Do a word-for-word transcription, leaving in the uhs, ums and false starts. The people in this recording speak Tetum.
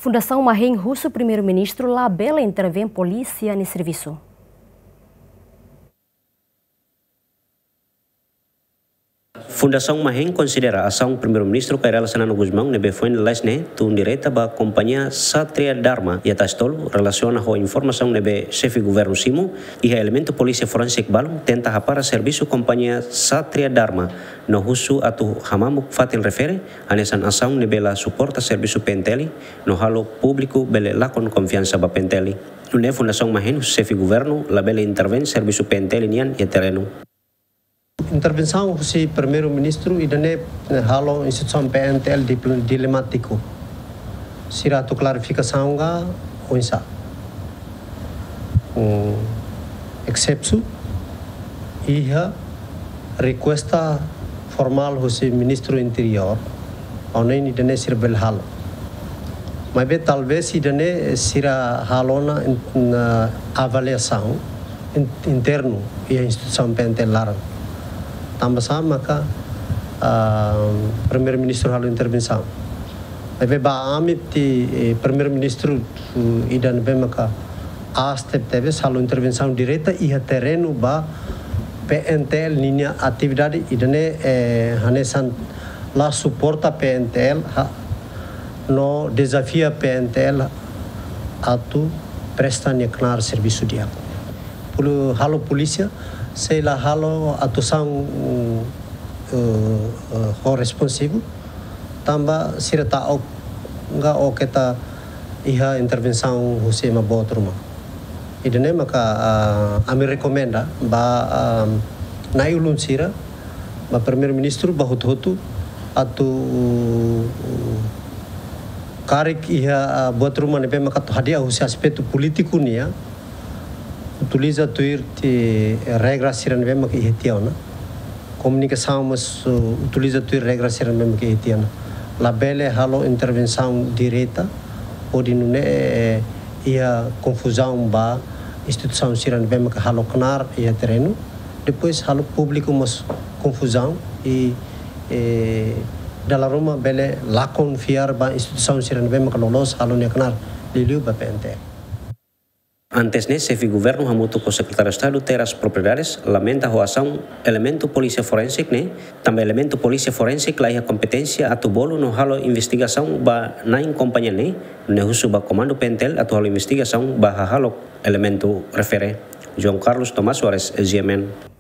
Fundasaun Mahen husu Primeiru-Ministru labele intervein polísia nia servisu. Fundasaun Mahen konsidera asaun Primeiru-Ministru Kay Rala Xanana Gusmão ne'ebé foin lalais ne'e tun direta ba kompañia Satria Dharma iha Tasitolu, relasiona ho informasaun ne'ebé Xefe Governu simu, iha elementu polísia forensik balun tenta hapara servisu kompañia Satria Dharma, no husu atu hamamuk fatin refere, hanesan asaun ne'ebé la suporta servisu P N T L, no halo públiku bele lakon konfiansa ba P N T L. Nune'e Fundasaun Mahen husu Xefe Governu labele intervein servisu P N T L nian iha terrenu. Intervensaun husi Primeiru-Ministru ida-ne'e, eh, halo instituisaun P N T L dipl-, dilemátiku. Sira atu klarifikasaun ka oinsá. Hmm, except iha rekuesta formál husi Ministru Interiór, ha'u hanoin ida-ne'e sira bele halo. Maibé talvés ida-ne'e sira halo ona in-, na avaliasaun in-, internu iha instituisaun P N T L laran. Tanba sá maka, ah, Primeiru-Ministru halo intervensaun. Maibé ba ami ti, eh, Primeiru-Ministru, eh, ida ne'ebé maka aas tebetebes halo intervensaun direta iha terrenu ba P N T L ninia atividade ida-ne'e, eh, hanesan la suporta P N T L, ha, no dezafia P N T L atu presta nia knaar servisu di'ak. Polu-, halo polísia sei la halo atuasaun, eh, eh, ho responsivu, tanba sira ta'uk ka ó keta iha intervensaun husi ema boot ruma. Ida-ne'e maka, ah, ami rekomenda ba, ah, na'i-ulun sira, ba Primeiru-Ministru, ba hotu-hotu, atu karik iha, ah, buat ruma ne'ebé maka atu hadi'a husi aspetu polítiku nian, utiliza tuir ti regra sira ne'ebé maka iha tiha ona. Komunikasaun mós, uh, utiliza tuir regra sira ne'ebé maka iha tiha ona. Labele halo intervensaun direta, hodi nune'e, eh, iha konfuzaun ba instituisaun sira ne'ebé maka halo knaar iha terrenu. Depois halo públiku mós konfuzaun i, eh, dala ruma bele lakon fiar ba instituisaun sira ne'ebé maka loloos halo nia knaar liuliu ba P N T L. Antes ne'e, Xefe Governu hamutuk ho Sekretáriu Estadu Terras Propriedades lamenta ho asaun elementu polísia forensik ne'e, tanba elementu polísia forensik la iha kompeténsia atu bolu no halo investigasaun ba na'in kompañia ne'e, nune'e husu ba Komandu P N T L atu halo investigasaun ba hahalok elementu refere. João Carlos Tomás Soares, G M N.